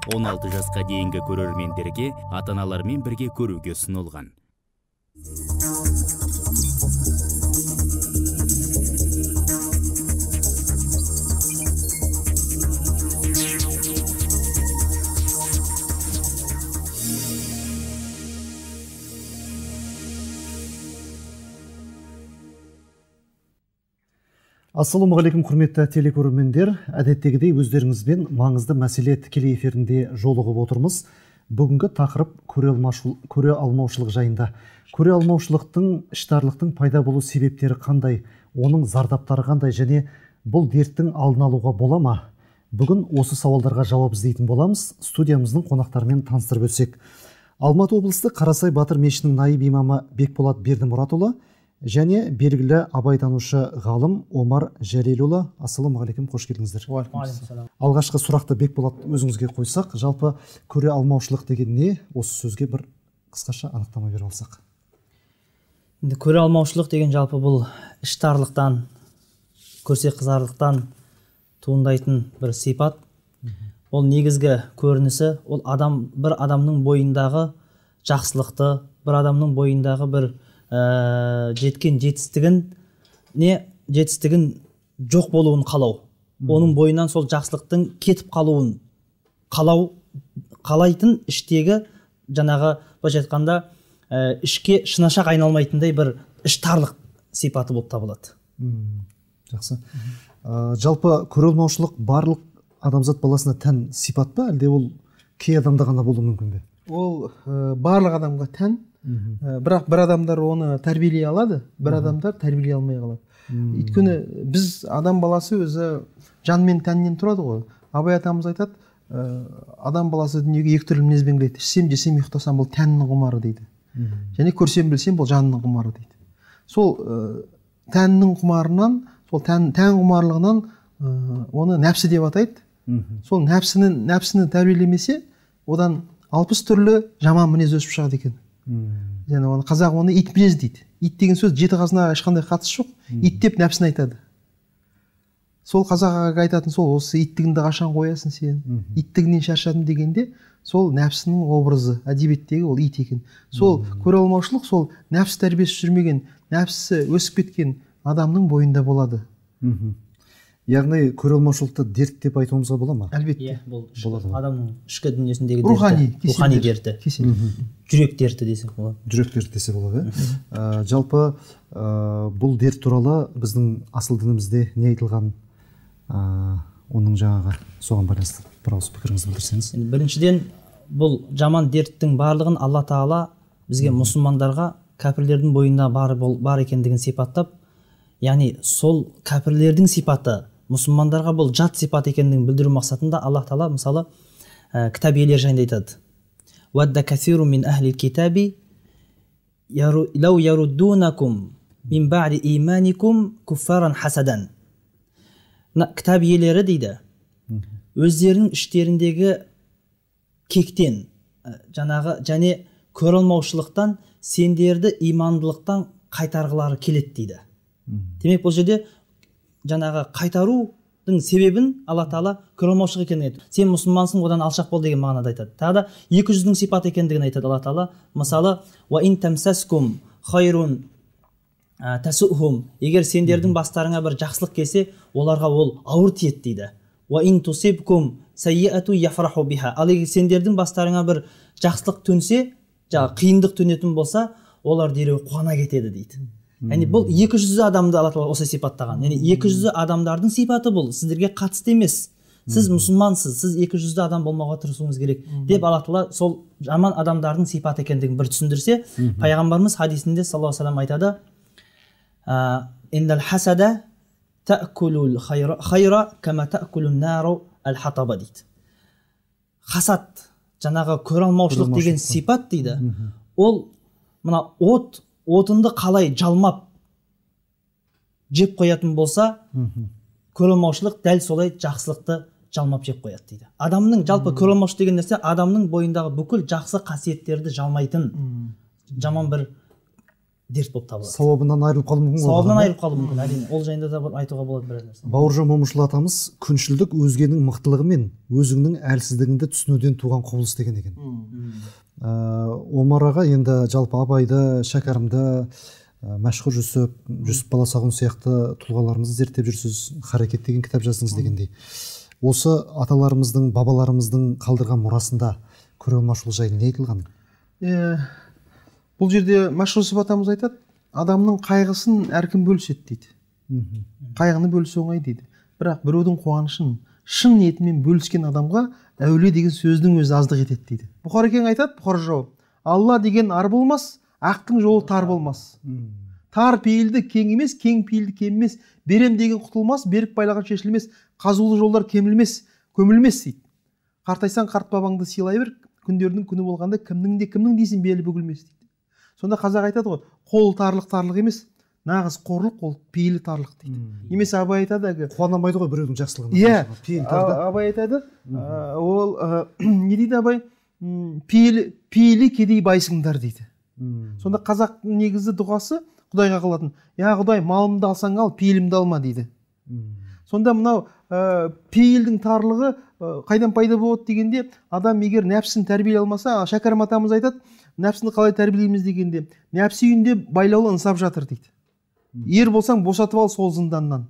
16 жасқа дейінгі көрермендерге ата-аналармен бірге көруге ұсынылған. Ассалаумағалейкум, құрметті телекөрермендер. Әдеттегідей өздеріңізбен маңызды мәселе тікелей эфирінде жолығып отырмыз. Бүгінгі тақырып көре алмаушылық жайында. Көре алмаушылықтың, іштарлықтың пайда болу себептері қандай, оның зардаптары қандай және бұл дерттің алдын алуға бола ма? Бүгін осы сауалдарға жауап іздейтін боламыз. Студиямыздың қонақтарымен таныстырып өтсек. Алматы облысы Қарасай Батыр мешітінің наиб имамы Бекболат Бердімұратұлы және белгілі абайтанушы ғалым Омар Жәлелұлы. Ассалаумағалейкум, қош келдіңіздер. Алғашқы сұрақты Бекболат өзіңізге қойсақ, жалпы көре алмаушылық деген не? Осы сөзге бір қысқаша анықтама беріп алсақ. Көре алмаушылық деген жалпы бұл іштарлықтан, көрсе қызарлықтан туындайтын бір сипат. Ол негізгі көрінісі, ол бір адамның бойындағы жақсылықты, бір адамның бойындағы бір жеткен жетістігін жоқ болуын қалау, оның бойынан сол жақсылықтың кетіп қалуын қалайтын іштегі жаңағы былайша айтқанда ішке шынашақ айналмайтындай бір іштарлық сипаты болып табылады. Жақсы. Жалпы көре алмаушылық барлық адамзат баласына тән сипат па, әлде ол кей адамда ғана болуы мүмкін бе? Ол барлық адамға тән. Бірақ бір адамдар оны тәрбиелей алады, бір адамдар тәрбиелей алмай қалады. Өйткені біз адам баласы өзі жан мен тәннен тұрады ғой. Абай атамыз айтады, адам баласы дүниеге екі түрлі мінезбен келеді. Ішсем, жесем, ұйықтасам, бұл тәннің құмары дейді. Және көрсем, білсем, бұл жанның құмары дейді. Сол тәннің құмарынан, сол тән құмарлығынан оны нәпсі деп атайды. Сол нәпсіні тәрбиелемесе, одан 60 түрлі жаман мінез өсіп шығады екен. Және қазақ оны ит мінез дейді. Ит деген сөз жеті қазынаға ешқандай қатысы жоқ. Ит деп нәпсін айтады. Сол қазақ айтатын сол, осы иттігіңді қашан қоясың сен? Иттігінен шаршадым дегенде, сол нәпсінің образы, әдебиеттегі ол ит екен. Сол көре алмаушылық, сол нәпсі тәрбиесі жүрмеген, нәпсі өсіп кеткен адамның бойында болады. Яғни көре алмаушылықты дерт деп айтуымызға бола ма? Әлбетте. Бұл адамның ішкі дүниесіндегі дерті, рухани дерті, жүрек дерті десек болады. Жүрек дерті десе болады. Жалпы бұл дерт туралы біздің асыл дінімізде не айтылған, оның жаңағы соған байланысты бір ауыз пікіріңізді білдірсеңіз. Біріншіден, бұл жаман дерттің барлығын Алла Тағала бізге мұсылмандарға кәпірлердің бойында бар екендігін сипаттап, яғни сол кәпірлердің сипаты мұсылмандарға бұл жат сипат екендігін білдіру мақсатында Аллах Тағала мысалы кітап иелері жайында айтады. Вадда касиру мин ахлил китаби лау яруддунакум мин ба'ди иманикум куффаран хасадан. Кітап иелері дейді, өздерінің іштеріндегі кектен, және көре алмаушылықтан сендерді имандылықтан қайтарғылары келеді дейді. Демек бұл жерде жаңағы қайтарудың себебін Алла Тағала көре алмаушылық екенін айтады. Сен мұсылмансың, одан алшақ бол деген мағынада айтады. Тағы да екі жүздің сипаты екендігін айтады Алла Тағала. Мысалы, ва ин тамсаскум хайрун тасухум, егер сендердің бастарыңа бір жақсылық келсе, оларға ол ауыр тиеді дейді. Ва ин тусибкум саййату яфраху биха, ал егер сендердің бастарыңа бір жақсылық төнсе, қиындық төнетін болса, олар дереу қуана кетеді дейді. Яғни бұл екі жүзді адамды Алла Тағала осы сипаттаған. Яғни екі жүзді адамдардың сипаты бұл, сіздерге қатысты емес. Сіз мұсылмансыз, сіз екі жүзді адам болмауға тырысуыңыз керек деп Алла Тағала сол жаман адамдардың сипаты екендігін бір түсіндірсе, пайғамбарымыз хадисінде саллаллаху алейхи ва саллям айтады: "Иннал хасада та'кулул хайра кама та'кулун нару ал-хатаба" дейді. Хасад, жаңағы көре алмаушылық деген сипат дейді. Ол мына отынды қалай жалмап жеп қоятын болса, көре алмаушылық дәл солай жақсылықты жалмап жеп қояды дейді. Адамның жалпы көре алмаушылық деген нәрсе адамның бойындағы бүкіл жақсы қасиеттерді жалмайтын жаман бір дерт болып табылады. Сауабынан айырылып қалуы мүмкін. Сауабынан айырылып қалуы мүмкін. Әрине, ол жайында да айтуға болады біраз нәрсе. Бауыржан Момышұлы атамыз күншілдік өзгенің мықтылығы мен өзіңнің әлсіздігіңді түсінуден туған құбылыс деген екен. Омар аға енді жалпы Абайды, Шәкәрімді, Мәшһүр Жүсіп Баласағұн сияқты тұлғаларымызды зерттеп жүрсіз, Харекет деген кітап жаздыңыз дегендей. Осы аталарымыздың, бабаларымыздың қалдырған мұрасында көре алмаушылық жайлы не айтылған? Бұл жерде Мәшһүр Жүсіп атамыз айтады, адамның қайғысын әркім бөліседі дейді. Қайғыны бөлісу оңай дейді. Бірақ біреудің қуанышын шын ниетімен бөліскен адамға әулие деген сөздің өзі аздық етеді дейді. Бұхарекең айтады, Бұхар жауап, Алла деген ар болмас, ақтың жолы тар болмас. Тар пейілді кең емес, кең пейілді кем емес, берем деген құтылмас, берік байлаған шешілмес, қазулы жолдар кемілмес, көмілмес дейді. Қартайсаң қарт бабаңды сыйлай бер, күндердің күні болғанда кімнің дейсің белі бүгілмес дейді. Сонда қазақ айтады ғой, қол тарлық емес, нағыз қорлық ол пейілі тарлық дейді. Немесе Абай айтады, қуанамайды ғой біреудің жақсылығына. Иә, Абай айтады, ол не дейді Абай? Пейілі кедей байсыңдар дейді. Сонда қазақ негізі дұғасы Құдайға қылатын, я Құдай, малымды алсаң ал, пейілімді алма дейді. Сонда мынау пейілдің тарлығы қайдан пайда болады дегенде, адам егер нәпсін тәрбиелей алмаса, Шәкәрім атамыз айтады, нәпсіні қалай тәрбиелейміз дегенде, нәпсі үйінде байлаулы ынсап жатыр дейді. Ер болсаң босатып ал сол зынданнан.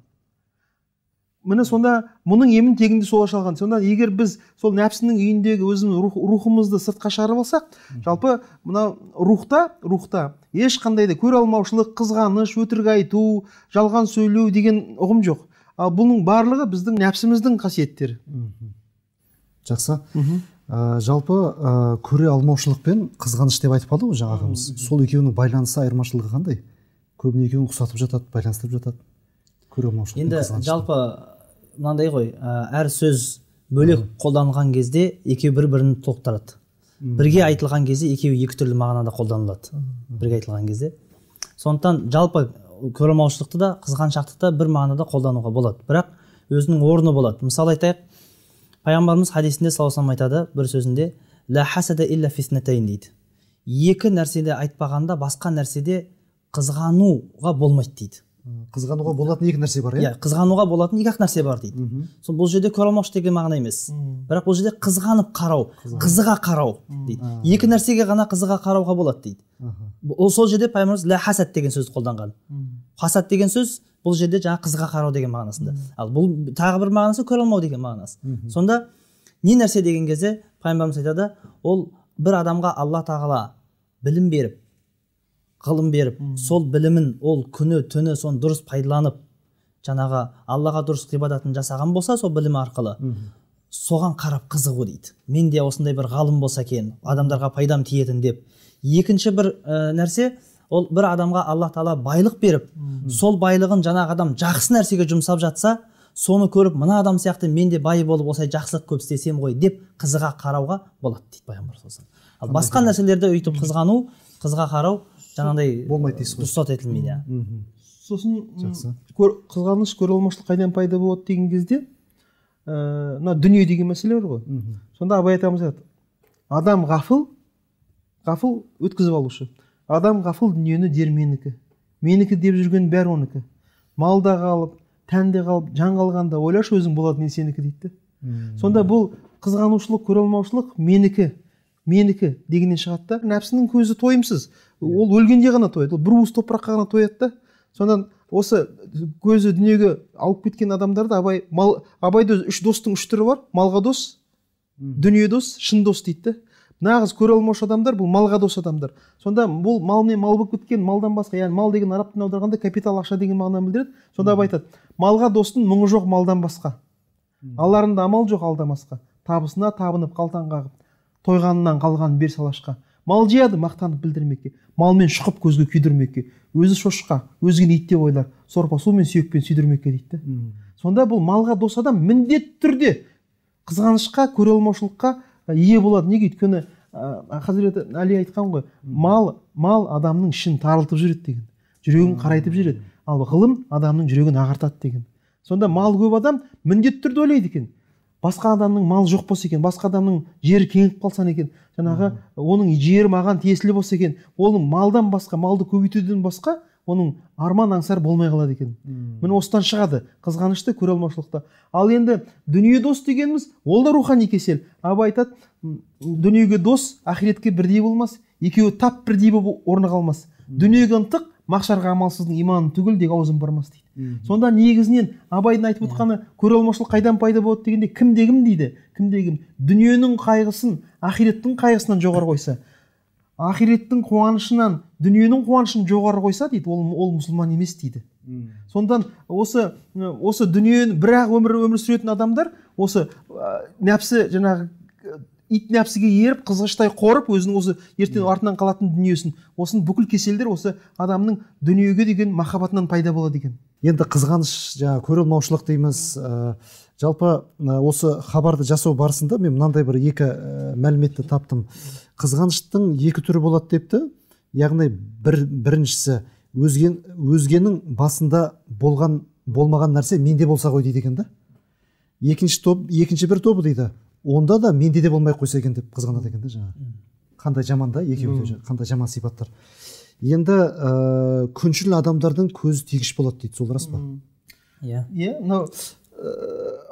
Міне сонда мұның емін тегінде сол ашалған. Сонда егер біз сол нәпсінің үйіндегі өзіміз рухымызды сыртқа шығарып алсақ, жалпы мына рухта ешқандай да көре алмаушылық, қызғаныш, өтірік айту, жалған сөйлеу деген ұғым жоқ. Ал бұның барлығы біздің нәпсіміздің қасиеттері. Жақсы. Жалпы көре алмаушылық пен қызғаныш деп айтып қалды ғой жаңағымыз. Сол екеуінің байланысы, айырмашылығы қандай? Көбіне екеуін ұқсатып жатады, байланыстырып жатады. Көре алмаушылық. Енді жалпы мынандай ғой, әр сөз бөлек қолданылған кезде екеуі бір-бірін толықтырады. Бірге айтылған кезде екеуі екі түрлі мағынада қолданылады. Бірге айтылған кезде. Сондықтан жалпы көре алмаушылықты да, қызғаншақтықты да бір мағынада қолдануға болады. Бірақ өзінің орны болады. Мысалы айтайық, Пайғамбарымыз хадисінде саллаллаху алейхи айтады бір сөзінде, ла хасада илля фиснатайн дейді. Екі нәрседе айтпағанда басқа нәрседе қызғануға болмайды дейді. Қызғануға болатын екі нәрсе бар, иә? Қызғануға болатын екі-ақ нәрсе бар дейді. Сол бұл жерде көре алмаушылық деген мағына емес. Бірақ бұл жерде қызғанып қарау, қызыға қарау дейді. Екі нәрсеге ғана қызыға қарауға болады дейді. Ол сол жерде Пайғамбарымыз ла хасад деген сөзді қолданған. Хасад деген сөз бұл жерде жаңа қызға қарау деген мағынасында. Ал бұл тағы бір мағынасы көре алмау деген мағынасы. Сонда не нәрсе деген кезде Пайғамбарымыз айтады, ол бір адамға Алла тағала білім беріп, ғылым беріп, сол білімін ол күні түні соны дұрыс пайдаланып, жаңағы Аллаға дұрыс ғибадатын жасаған болса, сол білім арқылы соған қарап қызығу дейді. Мен де осындай бір ғалым болса екен, адамдарға пайдам тиетін деп. Екінші бір нәрсе, ол бір адамға Алла тағала байлық беріп, сол байлығын жаңағы адам жақсы нәрсеге жұмсап жатса, соны көріп, мына адам сияқты мен де бай болып осылай жақсылық көп істесем ғой деп қызыға қарауға болады дейді Пайғамбар. Ал басқа нәрселерде өйтіп қызғану, қызға қарау жаңағыдай болмайды дейсіз ғой. рұқсат етілмейді. Сосын қызғаныш, көре алмаушылық қайдан пайда болады деген кезде, мына дүние деген мәселе бар ғой. Сонда Абай атамыз айтады, адам ғафыл өткізіп алушы. Адам ғафыл дүниені дер менікі. Менікі деп жүрген бәрі оныкі. Малда қалып, тәнде қалып, жан қалғанда ойлашы өзің болады не сенікі дейді. Сонда бұл қызғанушылық, көре алмаушылық менікі дегеннен шығады да. Нәпсінің көзі тойымсыз. Ол өлгенде ғана тояды. Ол бір уыс топыраққа ғана тояды да. Сонда осы көзі дүниеге алып кеткен адамдарды Абайда үш достың үш түрі бар. Малға дос, дүние дос, шын дос дейді. Нағыз көре алмаушы адамдар бұл малға дос адамдар. Сонда бұл мал мен мал болып кеткен, малдан басқа, яғни мал деген араб тіліне аударғанда капитал, ақша деген мағынаны білдіреді. Сонда Абай айтады, малға достың мұңы жоқ малдан басқа. Аларында амал жоқ алдамасқа. Табысына табынып қалтан қағып, тойғанынан қалған бер салашқа. Мал жияды мақтанып білдірмекке, малмен шұқып көзге күйдірмекке, өзі шошқа, өзгені ит деп ойлар, сорпа су мен сүйекпен сүйдірмекке дейді. Сонда бұл малға дос адам міндетті түрде қызғанышқа, көре алмаушылыққа ие болады. Неге? Өйткені Хазіреті Әли айтқан ғой, мал адамның ішін тарылтып жүреді деген, жүрегін қарайтып жүреді, ал ғылым адамның жүрегін ағартады деген. Сонда мал көп адам міндетті түрде ойлайды екен, басқа адамның малы жоқ болса екен, басқа адамның жері кеңіп қалса екен, жаңағы оның жері маған тиесілі болса екен, оның малдан басқа, малды көбейтуден басқа оның арман аңсар болмай қалады екен. Міне осыдан шығады қызғанышты, көре алмаушылықта. Ал енді дүние дос дегеніміз, ол да рухани кесел. Абай айтады, дүниеге дос ақиретке бірдей болмас, екеуі тап бірдей болып орны қалмас. Дүниеге ынтық, мақшарға амалсыздың иманы түгіл деген аузын бармас дейді. Сонда негізінен Абайдың айтып отқаны көре алмаушылық қайдан пайда болады дегенде, кімде кім дейді, кімде кім дүниенің қайғысын ақиреттің қайғысынан жоғары қойса, ақиреттің қуанышынан дүниенің қуанышын жоғары қойса дейді, ол мұсылман емес дейді. Сондан осы дүниені бірақ өмір сүретін адамдар осы нәпсі, жаңағы ит нәпсіге еріп, қызғыштай қорып, өзінің осы ертең артынан қалатын дүниесін, осының бүкіл кеселдер осы адамның дүниеге деген махаббатынан пайда болады екен. Енді қызғаныш, жаңағы көре алмаушылық дейміз. Жалпы осы хабарды жасау барысында мен мынандай бір екі мәліметті таптым. Қызғаныштың екі түрі болады депті. Яғни біріншісі өзгенің басында болмаған нәрсе менде болса ғой дейді екен да. Екінші бір тобы дейді, онда да менде де болмай қойса екен деп қызғанады екен да жаңа. Қандай жаман да, екеуі де қандай жаман сипаттар. Енді күншіл адамдардың көзі тегіш болады дейді, сол рас па? Иә. Мынау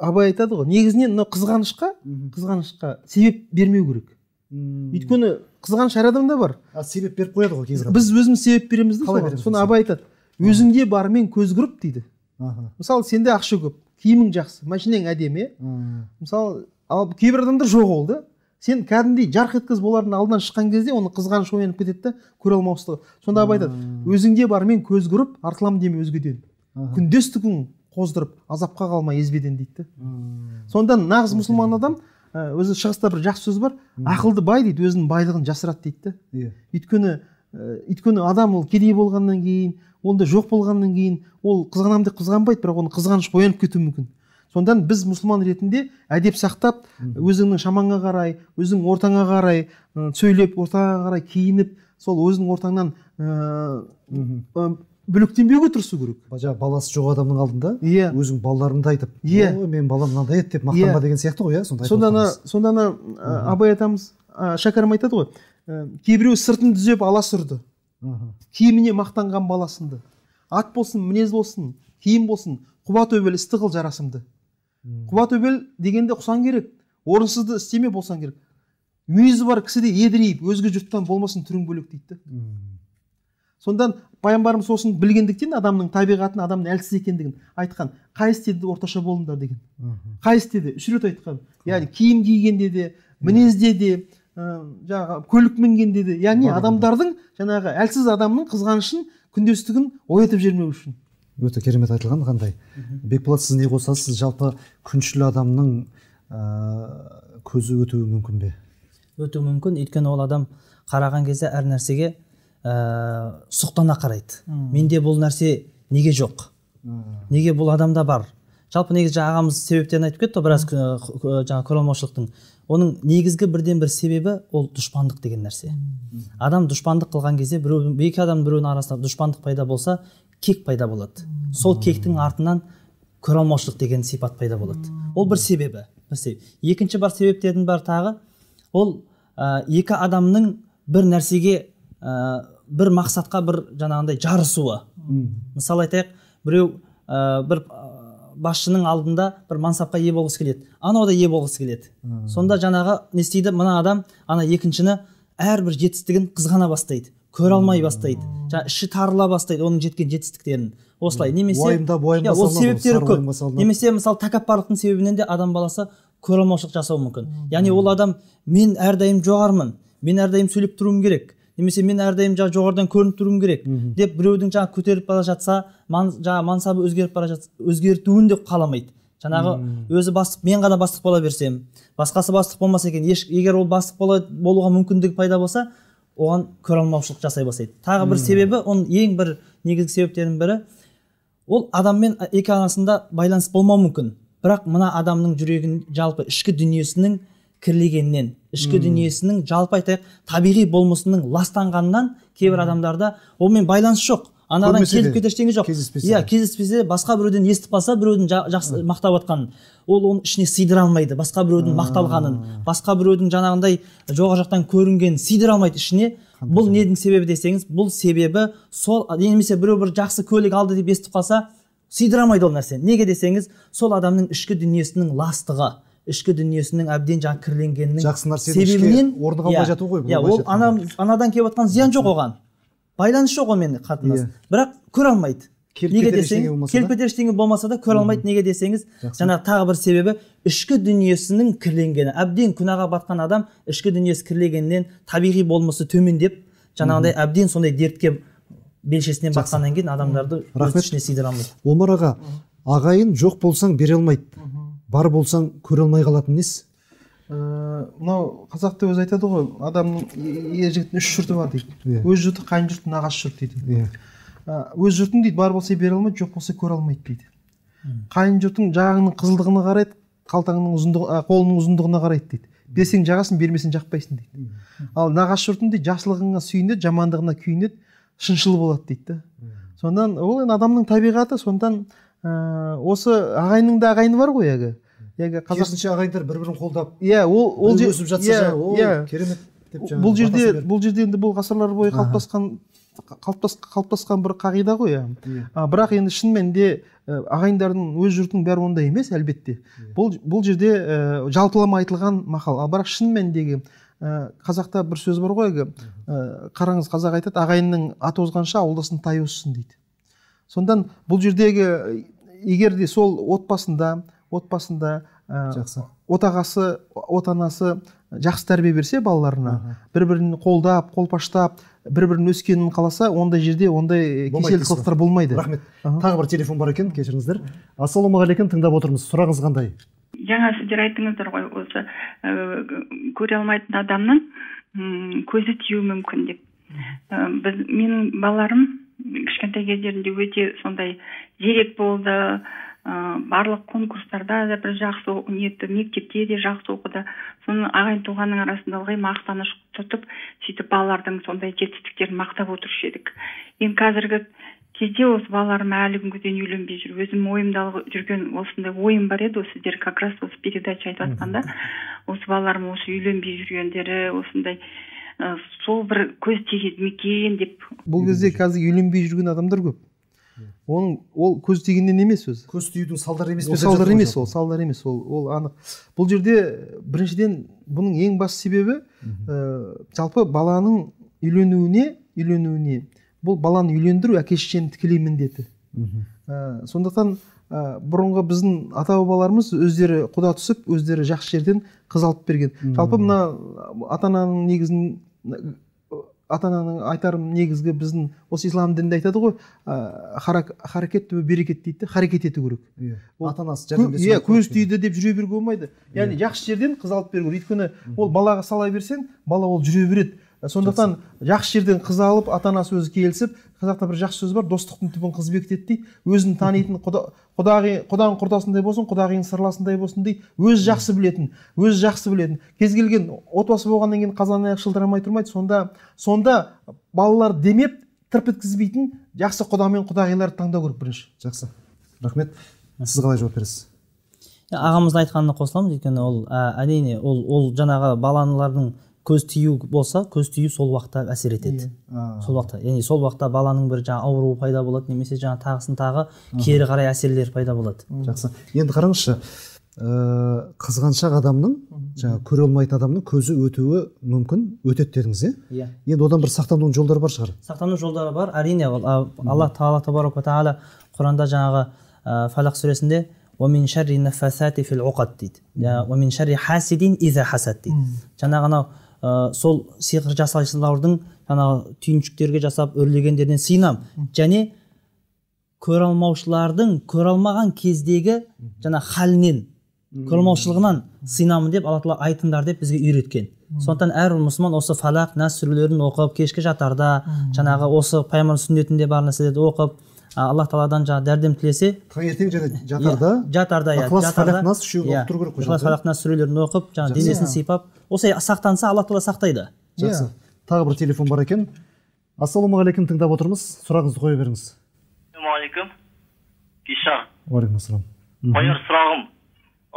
Абай айтады ғой, негізінен мынау қызғанышқа себеп бермеу керек. Өйткені қызғаныш әр адамда бар. Себеп беріп қояды ғой кейбір. Біз өзіміз себеп береміз де, соны Абай айтады. Өзіңде барымен көз құрып дейді. Мысалы, сенде ақша көп, киімің жақсы, машинаң әдемі. Мысалы, ал кейбір адамдар жоқ ол да. Сен кәдімгідей жарқ еткіз болардың алдынан шыққан кезде оны қызғаныш оянып кетеді де, көре алмаушылығы. Сонда Абай айтады, өзіңде барымен көз құрып, артылам деме өзгеден. Күндестігін қоздырып, азапқа қалмай езбеден дейді. Сонда нағыз мұсылман адам, өзі шығыста бір жақсы сөз бар, ақылды бай дейді, өзінің байлығын жасырады дейді. Өйткені адам ол кедей болғаннан кейін, онда жоқ болғаннан кейін, ол қызғанам деп қызғанбайды, бірақ оны қызғаныш оянып кетуі мүмкін. Сондан біз мұсылман ретінде әдеп сақтап, өзіңнің шамаңа қарай, өзің ортаңа қарай сөйлеп, ортаңа қарай киініп, сол өзің ортаңнан бөлектенбеуге тырысу керек. Баласы жоқ адамның алдында өзің балаларыңды айтып, мен балам мынандай еді деп мақтанба деген сияқты ғой. Сонда Абай атамыз, Шәкәрім айтады ғой, кейбіреу сыртын түзеп ала сүрді, киіміне мақтанған баласынды, ат болсын, мінез болсын, киім болсын, құба төбел істі қыл жарасымды. Құба төбел дегенде құсан керек, орынсызды істеме болсан керек. Мүйізі бар кісіде едірейіп, өзге жұрттан болмасын түрің бөлек дейді. Сондан пайғамбарымыз сосын білгендіктен адамның табиғатын, адамның әлсіз екендігін айтқан. Қай істеді орташа болыңдар деген. Қай істеді? 3 рет айтқан. Яғни киім кигенде де, мінезде де, жаңағы көлік мінгенде де, яғни адамдардың, жаңағы әлсіз адамның қызғанышын, күндестігін оятып жібермеу үшін. Өте керемет айтылған. Қандай? Бекболат, сіз не қосасыз? Жалпы күншіл адамның көзі өтуі мүмкін бе? Өтуі мүмкін, өйткені ол адам қараған кезде әр нәрсеге сұқтана қарайды. Менде бұл нәрсе неге жоқ? Неге бұл адамда бар? Жалпы негізі ағамыз себептерін айтып кетті, біраз жаңа көре алмаушылықтың. Оның негізгі бірден бір себебі ол дұшпандық деген нәрсе. Адам дұшпандық қылған кезде, екі адам біреуінің арасында дұшпандық пайда болса, кек пайда болады. Сол кектің артынан көре алмаушылық деген сипат пайда болады. Ол бір себебі. Екінші бар себептердің бар тағы, ол екі адамның бір нәрсеге, бір мақсатқа бір жаңағындай жарысуы. Мысалы айтайық, біреу бір басшының алдында бір мансапқа ие болғысы келеді, анау да ие болғысы келеді. Сонда жаңағы не істейді, мына адам ана екіншіні әрбір жетістігін қызғана бастайды, көре алмай бастайды, іші тарыла бастайды оның жеткен жетістіктерін. Осылай немесе ол себептері көп. Немесе мысалы тәкаппарлықтың себебінен де адам баласы көре алмаушылық жасауы мүмкін. Яғни ол адам, мен әрдайым жоғармын, мен әрдайым сөйлеп тұруым керек, немесе мен әрдайым жоғарыдан көрініп тұруым керек деп біреудің жаңа көтеріп бара жатса, жаңа мансабы өзгеріп бара жатса, өзгертуін де қаламайды. Жаңағы өзі бастық, мен ғана бастық бола берсем, басқасы бастық болмаса екен, егер ол бастық болуға мүмкіндігі пайда болса, оған көре алмаушылық жасай бастайды. Тағы бір себебі, оның ең бір негізгі себептерінің бірі, ол адаммен екі арасында байланыс болмау мүмкін. Бірақ мына адамның жүрегін жалпы ішкі дүниесінің кірлегеннен, ішкі дүниесінің жалпы айтайық табиғи болмысының ластанғаннан кейбір адамдарда олмен байланыс жоқ. анадан Көрмесе келіп де, кетер ештеңе жоқ. кездеспесе Иә, де. кездеспесе, басқа біреуден естіп қалса, біреудің жақсы мақтап жатқанын, ол оның ішіне сыйдыра алмайды. Басқа біреудің мақталғанын, басқа біреудің жаңағындай жоғары жақтан көрінгенін сыйдыра алмайды ішіне. Бұл недің себебі десеңіз, бұл себебі сол, немесе біреу бір жақсы көлік алды деп естіп қалса, сыйдыра алмайды ол нәрсе. Неге десеңіз, сол адамның ішкі дүниесінің ластығы, ішкі дүниесінің әбден жаңа кірленгенінің себебінен орныға алмай жату ғой. Ол анадан келіп жатқан зиян жоқ оған. Байланыс жоқ онымен қатынас. Бірақ көре алмайды. Неге десеңіз, келіп кетер ештеңе болмаса да көре алмайды. Неге десеңіз, жаңа тағы бір себебі ішкі дүниесінің кірленгені. Әбден күнәға батқан адам ішкі дүниесі кірленгеннен табиғи болмысы төмендеп, жаңағыдай әбден сондай дертке белшесінен батқаннан кейін адамдарды өз ішіне сыйдыра алмайды. Омар аға, ағайын жоқ болсаң бере алмайды, бар болсаң көре алмай қалатын несі? Мынау қазақта өзі айтады ғой, адамның ер жігіттің 3 жұрты бар дейді. Өз жұрты, қайын жұрты, нағашы жұрт дейді. Өз жұртың дейді, бар болса бере алмайды, жоқ болса көре алмайды дейді. Қайын жұртың жағыңның қызылдығына қарайды, қалтаңның ұзындығы, қолының ұзындығына қарайды дейді. Берсең жағасын, бермесең жақпайсың дейді. Ал нағашы жұртың дейді, жақсылығыңа сүйінеді, жамандығына күйінеді, шыншыл болады дейді. Сондан ол адамның табиғаты, сондан осы ағайынның да ағайыны бар ғой яғы. Керісінше ағайындар бір-бірін қолдап, иә, ол өсіп жатса, керемет деп жаңағы. Бұл жерде енді бұл ғасырлар бойы қалыптасқан бір қағида ғой. Бірақ енді шын мәнінде ағайындардың өз жұртының бәрі ондай емес, әлбетте. Бұл жерде жалпылама айтылған мақал. Бірақ шын мәніндегі қазақта бір сөз бар ғой, қараңыз, қазақ айтады, ағайынның аты озғанша ауылдасын тай өссін дейді. Сондан бұл жердегі егер де сол отбасында отағасы, отанасы жақсы тәрбие берсе балаларына, бір-бірін қолдап, қолпаштап, бір-бірін өскенін қаласа, ондай жерде ондай кеселді қылықтар болмайды. Рахмет. Тағы бір телефон бар екен, кешіріңіздер. Ассалаумағалейкум, тыңдап отырмыз. Сұрағыңыз қандай? Жаңа сіздер айттыңыздар ғой, осы көре алмайтын адамның көзі тию мүмкін деп. Менің балаларым кішкентай кездерінде өте сондай зерек болды. Барлық конкурстарда да бір жақсы ниетті, мектепте де жақсы оқыды. Соны ағайын туғанның арасында ылғи мақтаныш тұтып, сөйтіп балалардың сондай жетістіктерін мақтап отырушы едік. Енді қазіргі кезде осы балаларым әлі күнге дейін үйленбей жүр. Өзім ойымда жүрген осындай ойым бар еді, сіздер как раз осы передача айтып жатқанда, осы балаларым осы үйленбей жүргендері осындай сол бір көз тиеді ме екен деп. Бұл кезде қазір үйленбей жүрген адамдар көп. Ол көз тигеннен емес өзі. Көз тиюдің салдары емес. Салдар емес, ол анық. Бұл жерде біріншіден бұның ең басты себебі жалпы баланың үйленуіне бұл баланы үйлендіру әке-шешенің тікелей міндеті. Сондықтан бұрынғы біздің ата-бабаларымыз өздері құда түсіп, өздері жақсы жерден қыз алып берген. Жалпы мына ата-ананың айтарым негізгі біздің осы ислам дінінде айтады ғой, харакет түбі берекет дейді, харекет ету керек. Ата-анасы көз тиді деп жүре беруге болмайды. Яғни жақсы жерден қыз алып беру керек. Өйткені ол балаға сала берсең, бала ол жүре береді. Сондықтан жақсы жерден қыз алып, ата-анасы өзі келісіп, қазақта бір жақсы сөз бар, достықтың түбін қыз бекітеді дейді. Өзін танитын құданың құрдасындай болсын, құдағиың сырласындай болсын дейді. Өзі жақсы білетін. Кез келген отбасы болғаннан кейін қазан аяқ шылдырамай тұрмайды. Сонда балалар демеп, тырп еткізбейтін жақсы құда мен құдағиларды таңдау керек бірінші. Жақсы. Рахмет. Сіз қалай жауап бересіз? Ағамыздың айтқанына қосыламыз, өйткені ол әрине ол жаңағы балалардың көз тию болса, көз тию сол уақытта әсер етеді. Сол уақытта, яғни сол уақытта баланың бір жаңа ауруы пайда болады, немесе жаңа тағы кері қарай әсерлер пайда болады. Жақсы. Енді қараңызшы, қызғаншақ адамның, жаңа көре алмайтын адамның көзі өтуі мүмкін, өтеді дедіңіз, иә? Енді одан бір сақтанудың жолдары бар шығар. Сақтану жолдары бар, әрине. Алла Тағала табарак ва тағала Құранда жаңағы Фалақ сүресінде وَمِنْ شَرِّ النَّفَّاثَاتِ فِي الْعُقَدِ дейді. وَمِنْ شَرِّ حَاسِدٍ إِذَا حَسَدَ дейді. Жаңағы сол сиқыр жасаушылардың жаңағы түйіншіктерге жасап өрлегендерден сыйынам. Және көре алмаушылардың көре алмаған кездегі жаңа халінен, көре алмаушылығынан сыйынамын деп Алла Тағала айтыңдар деп бізге үйреткен. Сондықтан әр мұсылман осы Фалақ, Нас сүрелерін оқып, кешкі жатарда жаңағы осы пайғамбар сүннетінде бар нәрселерді оқып, Аллах Тағаладан жаңа дәрдем тілесе, таңертең жатарда Фалақ, Нас үшеуін оқып тұру керек қой. Фалақ, Нас сүрелерін оқып, жаңа денесін сипап, осылай сақтанса, Алла Тағала сақтайды. Жақсы. Тағы бір телефон бар екен. Ассалаумағалейкум, тыңдап отырмыз. Сұрағыңызды қоя беріңіз. Ассалаумағалейкум. Кешар. Уағалейкумассалам. Қояр сұрағым.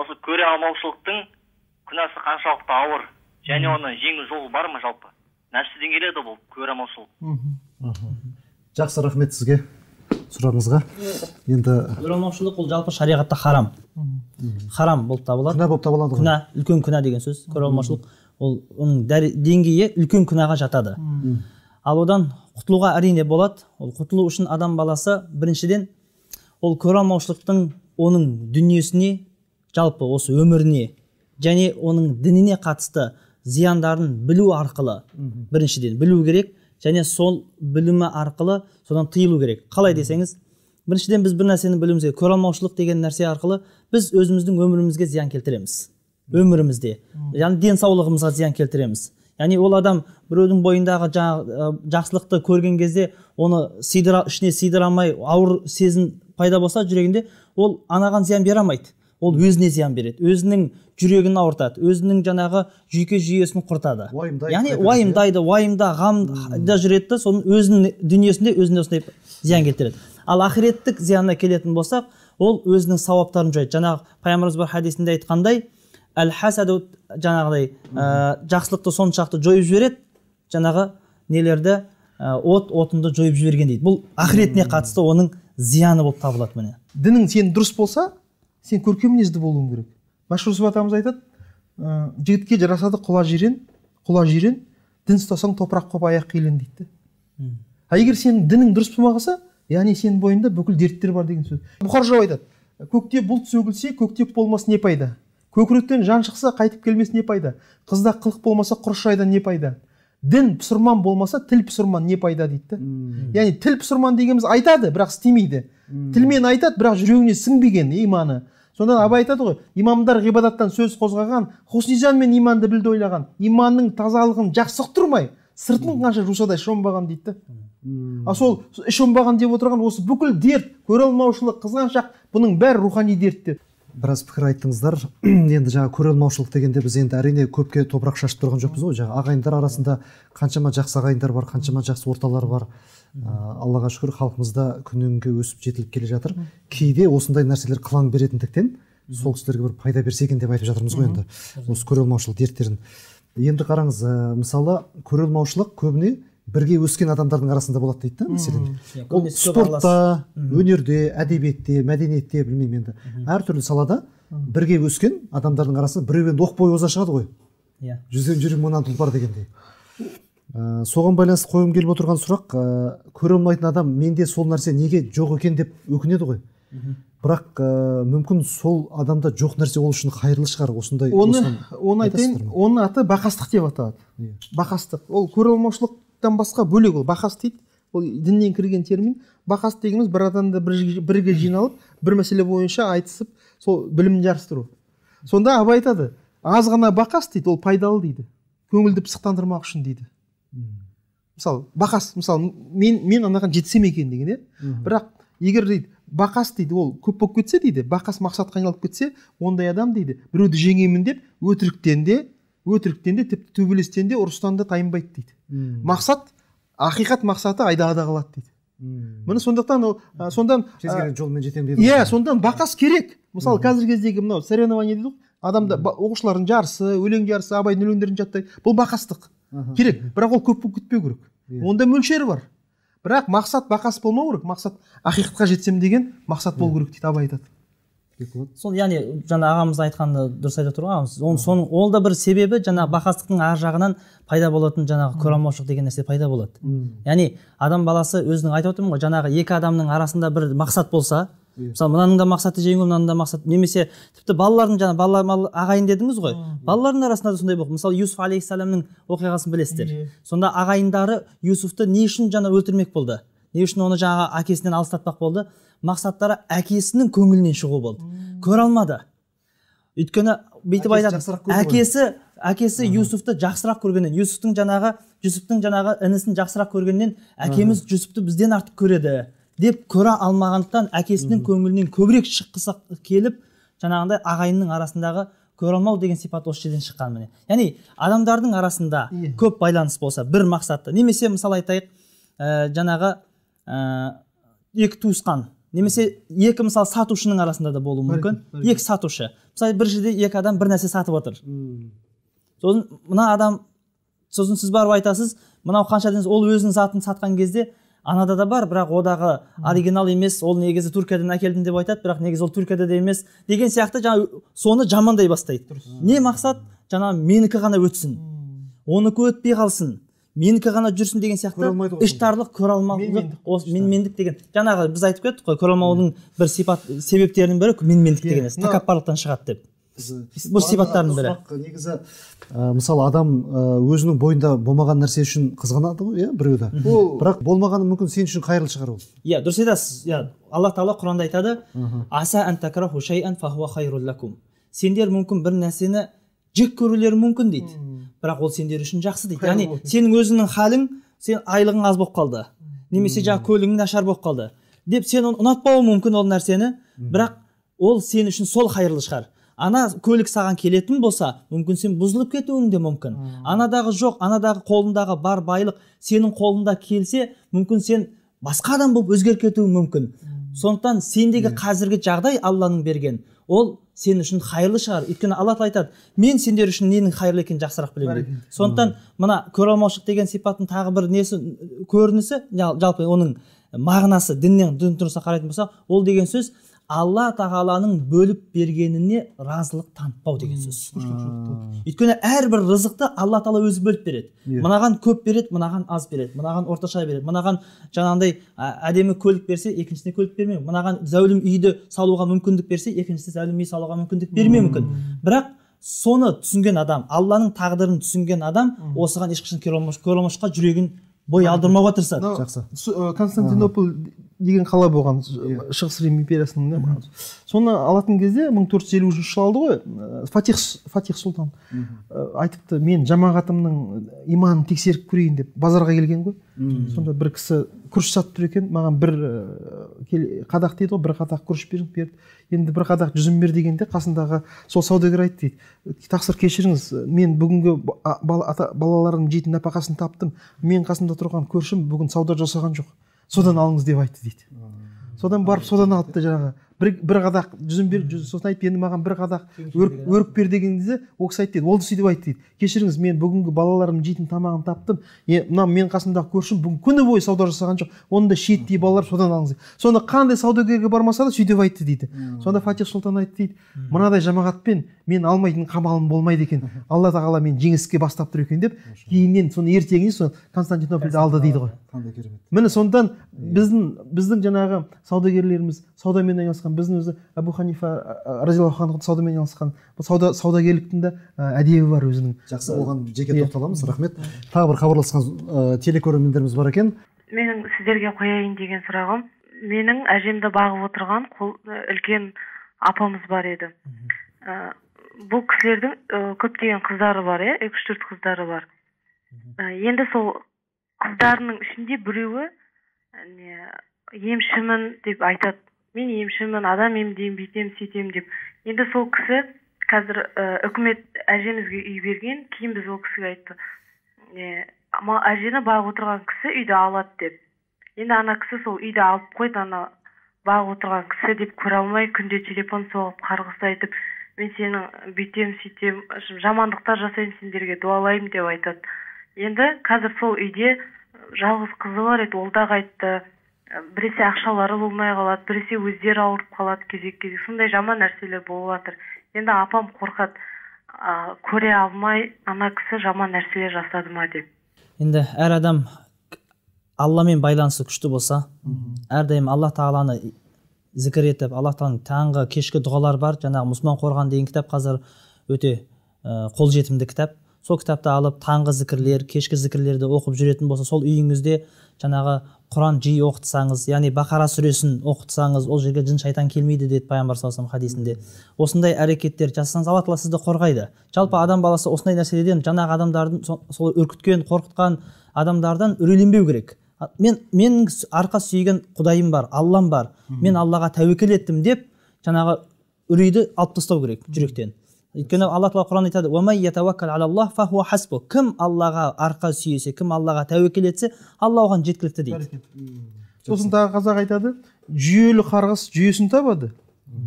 Осы көре алмаушылықтың күнәсі қаншалықты ауыр, және оны жеңіл жолы бар ма жалпы? Нәпсіден келеді бұл көре алмаушылық. Жақсы, рахмет сізге сұрағыңызға. Енді көре алмаушылық ол жалпы шариғатта харам. Харам болып табылады. күнә болып табылады. Күнә, үлкен күнә деген сөз. Көре алмаушылық ол оның деңгейі үлкен күнәға жатады. Ал одан құтылуға әрине болады. Ол құтылу үшін адам баласы біріншіден ол көре алмаушылықтың оның дүниесіне, жалпы осы өміріне және оның дініне қатысты зияндарын білу арқылы біріншіден білу керек, және сол білімі арқылы содан тыйылу керек. Қалай десеңіз, біріншіден біз бір нәрсені білуіміз керек. Көре алмаушылық деген нәрсе арқылы біз өзіміздің өмірімізге зиян келтіреміз. Өмірімізде, яғни денсаулығымызға зиян келтіреміз. Яғни ол адам біреудің бойындағы жақсылықты көрген кезде оны ішіне сыйдыра алмай, ауыр сезім пайда болса жүрегінде, ол анаған зиян бере алмайды. Ол өзіне зиян береді, өзінің жүрегін ауыртады, өзінің жаңағы жүйке жүйесін құртады. Яғни уайымдайды, уайымда, ғамда жүреді, соның өзінің дүниесінде өзіне осындай зиян келтіреді. Ал ақиреттік зиянына келетін болсақ, ол өзінің сауаптарын жояды. Жаңағы пайғамбарымыз бір хадисінде айтқандай, әл-хасаду, жаңағыдай жақсылықты соншалықты жойып жібереді, жаңағы нелерді отынды жойып жіберген дейді. Бұл ақиретіне қатысты оның зияны болып табылады. Міне дінің сен дұрыс болса, сен көркем мінезді болуың керек. Машһүр Жүсіп атамыз айтады, жігітке жарасады құла жирен, дін ұстасаң топырақ қоп аяқ қилен дейді. Егер сен дінің дұрыс болмағаса, яғни сенің бойында бүкіл дерттер бар деген сөз. Бұхар жауап айтады, көкте бұлт сөгілсе, көктеп болмас не пайда? Көкіректен жан шықса, қайтып келмес не пайда? Қызда қылық болмаса, құрыш шайдан не пайда? Дін пұсырман болмаса, тіл пұсырман не пайда дейді. Яғни тіл пұсырман дегеніміз айтады, бірақ істемейді. Тілмен айтады, бірақ жүрегіне сіңбеген иманы. Сонда Абай айтады ғой, имамдар ғибадаттан сөз қозғаған, хұснижан мен иманды білді ойлаған, иманның тазалығын жақсы тұрмай, сыртын қанша жусадай шомбаған дейді. А сол шомбаған деп отырған осы бүкіл дерт, көре алмаушылық, қызғаншақ, бұның бәрі рухани дерттер. Біраз пікір айттыңыздар. Енді жаңа көре алмаушылық дегенде біз енді әрине көпке топырақ шашып тұрған жоқпыз ғой. Жаңа ағайындар арасында қаншама жақсы ағайындар бар, қаншама жақсы орталар бар. Аллаға шүкір, халқымызда күннен-күнге өсіп жетіліп келе жатыр. Кейде осындай нәрселер қылаң беретіндіктен сол кісілерге бір пайда берсе екен деп айтып жатырмыз ғой енді. Осы көре алмаушылық дерттерін. Енді қараңыз, мысалы, көре алмаушылық көбіне бірге өскен адамдардың арасында болады дейді, мәселен. Ол спортта, өнерде, әдебиетте, мәдениетте, білмеймін енді. Әртүрлі салада бірге өскен адамдардың арасында біреу енді оқ бойы оза шығады ғой. Жүзден жүрек мыңнан тұлпар дегендей. Соған байланысты қойым келіп отырған сұрақ, көре алмайтын адам менде сол нәрсе неге жоқ екен деп өкінеді ғой. Бірақ мүмкін сол адамда жоқ нәрсе ол үшін қайырлы шығар. Осындай оны айтайын, оның аты бақастық деп аталады. Бақастық. Ол көре алмаушылықтан басқа бөлек, ол бақас дейді. Ол діннен кірген термин. Бақас дегеніміз бір адамды бірге жиналып, бір мәселе бойынша айтысып, сол білімін жарыстыру. Сонда Абай айтады, аз ғана бақас дейді, ол пайдалы дейді. Көңілді пысықтандырмақ үшін дейді. Мысалы, бақас, мысалы, мен анаған жетсем екен деген, бірақ егер дейді, бақас дейді, ол көп болып кетсе дейді, бақас мақсатқа айналып кетсе, ондай адам дейді, біреуді жеңемін деп, өтіріктен де, тіпті төбелестен де, ұрыстан да тайынбайды дейді. Мақсат, ақиқат мақсаты айдағада қалады дейді. Міне сондықтан сондан жолмен жетем дейді. Сондан бақас керек. Мысалы, қазіргі кездегі мынау соревнование дейді, адамда оқушылардың жарысы, өлең жарысы, Абайдың өлеңдерін жаттайды. Бұл бақастық керек, бірақ ол көп кетпеу керек. Онда мөлшері бар. Бірақ мақсат бақас болмау керек, мақсат ақиқатқа жетсем деген мақсат болу керек дейді Абай айтады. Сол, яғни жаңа ағамыз айтқанды дұрыс айтып тұрғанымыз, ол да бір себебі жаңағы бақастықтың ар жағынан пайда болатын жаңағы көре алмаушылық деген нәрсе пайда болады. Яғни адам баласы өзінің айтып отырмын ғой, жаңағы екі адамның арасында бір мақсат болса, мысалы мынаның да мақсаты жеңу, мынаның да мақсаты, немесе тіпті балалардың жаңа балалар ағайын дедіңіз ғой, балалардың арасында да сондай болды. Мысалы Юсуф алейхиссаламның оқиғасын білесіздер. Сонда ағайындары Юсуфты не үшін жаңа өлтірмек болды? Не үшін оны жаңағы әкесінен алыстатпақ болды? Мақсаттары әкесінің көңілінен шығу болды. Көре алмады. Өйткені бүйтіп айтады, әкесі Юсуфты жақсырақ көргеннен, Юсуфтың жаңағы інісін жақсырақ көргеннен, әкеміз Юсуфты бізден артық көреді деп көре алмағандықтан әкесінің көңілінен көбірек шыққысы келіп, жаңағындай ағайынның арасындағы көре алмау деген сипат осы жерден шыққан. Міне. Яғни адамдардың арасында көп байланыс болса, бір мақсатты, немесе мысалы айтайық, жаңағы екі туысқан немесе екі мысалы сатушының арасында да болуы мүмкін. Екі сатушы. Мысалы бір жерде екі адам бір нәрсе сатып отыр. Сосын мына адам, сосын сіз барып айтасыз, мынау қанша деңіз, ол өзінің затын сатқан кезде анада да бар, бірақ одағы оригинал емес, ол негізі Түркиядан әкелдім деп айтады, бірақ негізі ол Түркияда да емес деген сияқты жаңа соны жамандай бастайды. Не мақсат? Жаңа менікі ғана өтсін. Оныкі өтпей қалсын. Менікі ғана жүрсін деген сияқты іштарлық, көреалмаулық, менмендік деген. Жаңағы біз айтып кеттік қой, көреалмаудың бір себептерінің бірі менмендік деген нәрсе, тәкаппарлықтан шығады деп. Бұл сипаттардың бірі. Негізі мысалы адам өзінің бойында болмаған нәрсе үшін қызғанады ғой, біреуді. Бірақ болмағаны мүмкін сен үшін қайырлы шығар ол. Иә, дұрыс айтасыз. Алла Тағала Құранда айтады: "Аса ан такраху шай'ан фахуа хайрул лакум." Сендер мүмкін бір нәрсені жек көрулері мүмкін дейді. Бірақ ол сендер үшін жақсы дейді. Яғни сенің өзіңнің халің, сен айлығың аз болып қалды, немесе жаңа көлігің нашар болып қалды деп сен оны ұнатпауы мүмкін ол нәрсені, бірақ ол сен үшін сол хайырлы шығар. Ана көлік саған келетін болса, мүмкін сен бұзылып кетуің де мүмкін. Анадағы жоқ, анадағы қолындағы бар байлық сенің қолында келсе, мүмкін сен басқа адам болып өзгеріп кетуің мүмкін. Сондықтан сендегі қазіргі жағдай Алланың берген, ол сен үшін хайырлы шығар. Өйткені Алла айтады: "Мен сендер үшін ненің хайырлы екенін жақсырақ білемін" дейді. Сондықтан мына көреалмаушылық деген сипаттың тағы бір несі, көрінісі, жалпы оның мағынасы дін тұрғысынан қарайтын болсақ, ол деген сөз Алла Тағаланың бөліп бергеніне разылық танытпау деген сөз. Өйткені әрбір рызықты Алла Тағала өзі бөліп береді. Мынаған көп береді, мынаған аз береді, мынаған орташа береді, мынаған жаңағындай әдемі көлік берсе, екіншісіне көлік бермеу, мынаған зәулім үйді салуға мүмкіндік берсе, екіншісіне зәулім үй салуға мүмкіндік бермеуі мүмкін. Бірақ соны түсінген адам, Алланың тағдырын түсінген адам осыған ешқашан көреалмаушылыққа жүрегін бой алдырмауға тырысады. Жақсы. Константинополь деген қала болған Шығыс Рим империясының. Соны алатын кезде 1453 жыл алды ғой. Фатих Сұлтан айтыпты: "Мен жамағатымның иманын тексеріп көрейін" деп базарға келген ғой. Сонда бір кісі күріш сатып тұр екен, маған бір қадақ дейді ғой, бір қадақ күріш берді. Енді бір қадақ жүзім бер дегенде қасындағы сол саудагер айтты дейді: "Тақсыр кешіріңіз, мен бүгінгі балаларымның жейтін нәпақасын таптым. Мен қасында тұрған көршім бүгін сауда жасаған жоқ. Содан алыңыз" деп айтты дейді. Содан барып содан алыпты жаңағы. Бір қадақ жүзім бер, сосын айтты: "Енді маған бір қадақ өрік бер" дегенде ол кісі айтты дейді: "Ол сөйтіп айтты" дейді: "Кешіріңіз, мен бүгінгі балаларым жейтін тамағын таптым. Мына мен қасымдағы көршім бүгін күні бойы сауда жасаған жоқ. Оның да шиеттей балалар, содан алыңыз." Сонда қандай саудагерге бармаса да сөйтіп айтты дейді. Сонда Фатих Сұлтан айтты дейді: "Мынадай жамағатпен мен алмайтын қамалым болмайды екен. Алла Тағала мен жеңіске бастап тұр екен" деп, кейіннен соны ертеңіне соны Константинопольді алды дейді ғой. Міне сондан біздің жаңағы саудагерлеріміз, саудамен айналысқан, біздің өзі Абу Ханифа разиаллаху анху саудамен айналысқан. Бұл саудагерліктің де әдебі бар өзінің. Жақсы, оған жеке тоқталамыз. Рахмет. Тағы бір хабарласқан телекөрермендеріміз бар екен. Менің сіздерге қояйын деген сұрағым: менің әжемді бағып отырған үлкен апамыз бар еді. Бұл кісілердің көптеген қыздары бар, 3-4 қыздары бар. Енді сол қыздарының ішінде біреуі емшімін деп айтады. Мен емшімін, адам емдеймін, бүйтем, сөйтем деп. Енді сол кісі қазір үкімет әжемізге үй берген, кейін біз ол кісіге айтты: "Әжені бағып отырған кісі үйді алады" деп. Енді ана кісі сол үйді алып қойды, ана бағып отырған кісі деп көре алмай, күнде телефон соғып, қарғыс айтып: "Мен сенің бүйтем, сөйтем, жамандықтар жасаймын, сендерге дуалаймын" деп айтады. Енді қазір сол үйде жалғыз қызы бар еді, ол да қайтты. Біресе ақшалары болмай қалады, біресе өздері ауырып қалады кезек-кезек. Сондай жаман нәрселер болып жатыр. Енді апам қорқады, көре алмай ана кісі жаман нәрселер жасады ма деп. Енді әр адам Алламен байланысы күшті болса, әрдайым Алла Тағаланы зікір етіп, Алла Тағаланың таңғы кешкі дұғалар бар. Жаңағы Мұсылман Қорған деген кітап қазір өте қолжетімді кітап. Сол кітапты алып таңғы зікірлер, кешкі зікірлерді оқып жүретін болса, сол үйіңізде жаңағы Құран жиі оқытсаңыз, яғни Бақара сүресін оқытсаңыз, ол жерге жын шайтан келмейді деді пайғамбар саллаллаху алейхи хадисінде. Осындай әрекеттер жасасаңыз, Алла Тағала сізді қорғайды. Жалпы адам баласы осындай нәрселерден, жаңағы адамдардың сол үркіткен, қорқытқан адамдардан үрейленбеу керек. Мен арқа сүйеген Құдайым бар, Аллам бар, мен Аллаға тәуекел еттім деп жаңағы үрейді алып тастау керек жүректен. өйткені алла тағала құранда айтады уәмән ятаваккал алаллах фахуа хасбу, кім аллаға арқа сүйесе, кім аллаға тәуекел етсе, алла оған жеткілікті дейді. Сосын тағы қазақ айтады, жүйелі қарғыс жүйесін табады,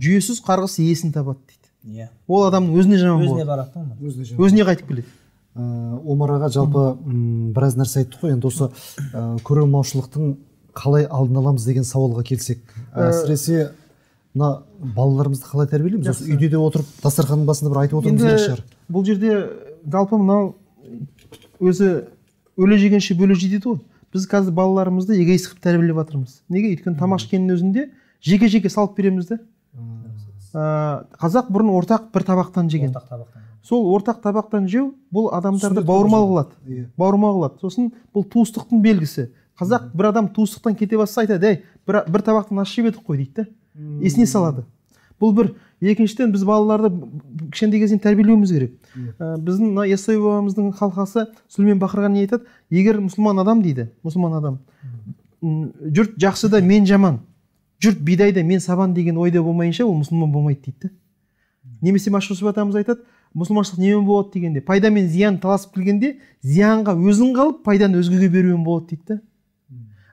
жүйесіз қарғыс иесін табады дейді. Ол адамның өзіне жаман болады, өзіне барады, өзіне қайтып келеді. Омар аға жалпы біраз нәрсе айтты ғой. Енді осы көре алмаушылықтың қалай алдын аламыз деген сауалға келсек, әсіресе мына балаларымызды қалай тәрбиелейміз? Осы үйде де отырып дастарханның басында бір айтып отыруымыз керек шығар. Бұл жерде жалпы мынау өзі өле жегенше бөле жейді ғой. Біз қазір балаларымызды эгоист қылып тәрбиелеп жатырмыз. Неге? Өйткені тамақ ішкеннің өзінде жеке-жеке салып береміз де. Қазақ бұрын ортақ бір табақтан жеген. Сол ортақ табақтан жеу бұл адамдарды бауырмал қылады. Бауырмал қылады. Сосын бұл туыстықтың белгісі. Қазақ бір адам туыстықтан кете бастаса айтады, "Ей, бір табақтан ас жеп едік қой" дейді. Есіне салады. Бұл бір. Екіншіден біз балаларды кішкентай кезден тәрбиелеуіміз керек. Біздің мына Яссауи бабамыздың халқасы Сүлеймен Бақырға не айтады? Егер мұсылман адам дейді, мұсылман адам, жұрт жақсы да мен жаман, жұрт бидай да мен сабан деген ойда болмайынша ол мұсылман болмайды дейді. Немесе Машһүр атамыз айтады, мұсылманшылық немен болады дегенде, пайда мен зиян таласып келгенде, зиянға өзің қалып, пайданы өзгеге берумен болады дейді.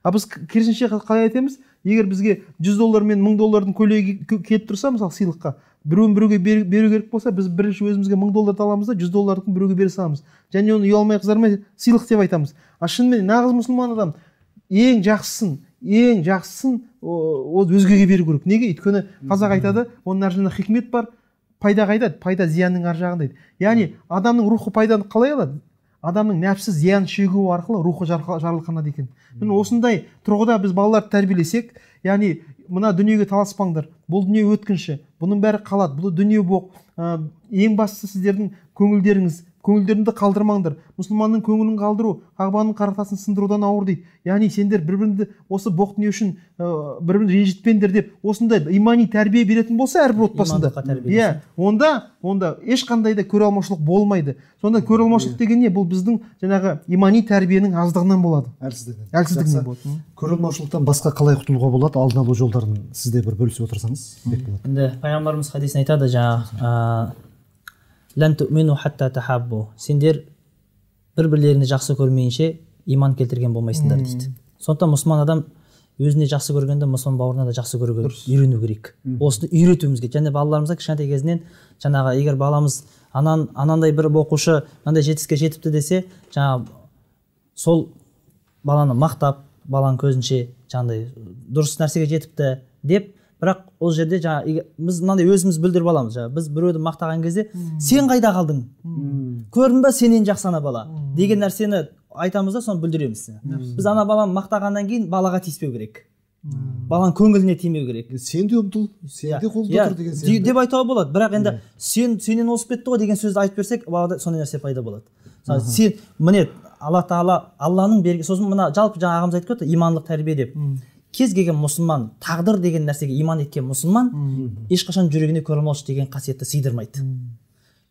Біз керісінше қалай айтамыз? Егер бізге $100 мен $1000 көйлегі келіп тұрса, мысалы сыйлыққа, біреуін біреуге беру керек болса, біз бірінші өзімізге $1000 аламыз да $100 біреуге бере саламыз. Және оны ұялмай қызармай сыйлық деп айтамыз. Шынымен нағыз мұсылман адам ең жақсысын ол өзгеге беру керек. Неге? Өйткені қазақ айтады, оның ар жағында хикмет бар, пайда қайда? Пайда зиянның ар жағында дейді. Яғни адамның рухы пайданы қалай алады? Адамның нәпсі зиян шегу арқылы рухы жарылқанады екен. Міне осындай тұрғыда біз балаларды тәрбиелесек, яғни мына дүниеге таласпаңдар, бұл дүние өткінші, бұның бәрі қалады, бұл дүние боқ. Ең бастысы сіздердің көңілдеріңді қалдырмаңдар. Мұсылманның көңілін қалдыру, Қағбаның қара тасын сындырудан ауыр дейді. Яғни сендер бір-біріңді осы боқ дүние үшін бір-бірін ренжітпеңдер деп, осындай имани тәрбие беретін болса әрбір отбасында, онда ешқандай да көре алмаушылық болмайды. Сонда көре алмаушылық деген не? Бұл біздің жаңағы имани тәрбиенің аздығынан болады. Әлсіздігінен болады. Көре алмаушылықтан басқа қалай құтылуға болады? Алдын алу жолдарын сізде бір бөлісіп отырсаңыз бек болады. Енді пайғамбарымыз хадисін айтады, жаңағы лән туъмину хатта тахаббу, сендер бір-бірлеріңді жақсы көрмейінше иман келтірген болмайсыңдар дейді. Сондықтан мұсылман адам өзіне жақсы көргенде мұсылман бауырына да жақсы көруге үйрену керек. Осыны үйретуіміз керек. Және балаларымызға кішкентай кезінен жаңағы егер баламыз анандай бір оқушы мынандай жетістікке жетіпті десе, жаңағы сол баланы мақтап, баланың көзінше жаңағыдай дұрыс нәрсеге жетіпті деп, бірақ ол жерде жаңағы біз мынандай өзіміз білдіріп аламыз. Біз біреуді мақтаған кезде сен қайда қалдың? Көрдің ба сенен жақсы ана бала деген нәрсені айтамыз да соны білдіреміз. Біз ана баланы мақтағаннан кейін балаға тиіспеу керек. Баланың көңіліне тимеу керек. Сен де ұмтыл, сен де қолда тұр деген сияқты. Деп айтуға болады. Бірақ енді сенен озып кетті ғой деген сөзді айтып берсек, балада сондай нәрсе пайда болады. Сен міне Алла Тағала Алланың берген, сосын мына жалпы жаңа ағамыз айтып кетті, имандылық тәрбие деп. Кез келген мұсылман, тағдыр деген нәрсеге иман еткен мұсылман ешқашан жүрегіне көре алмаушылық деген қасиетті сыйдырмайды.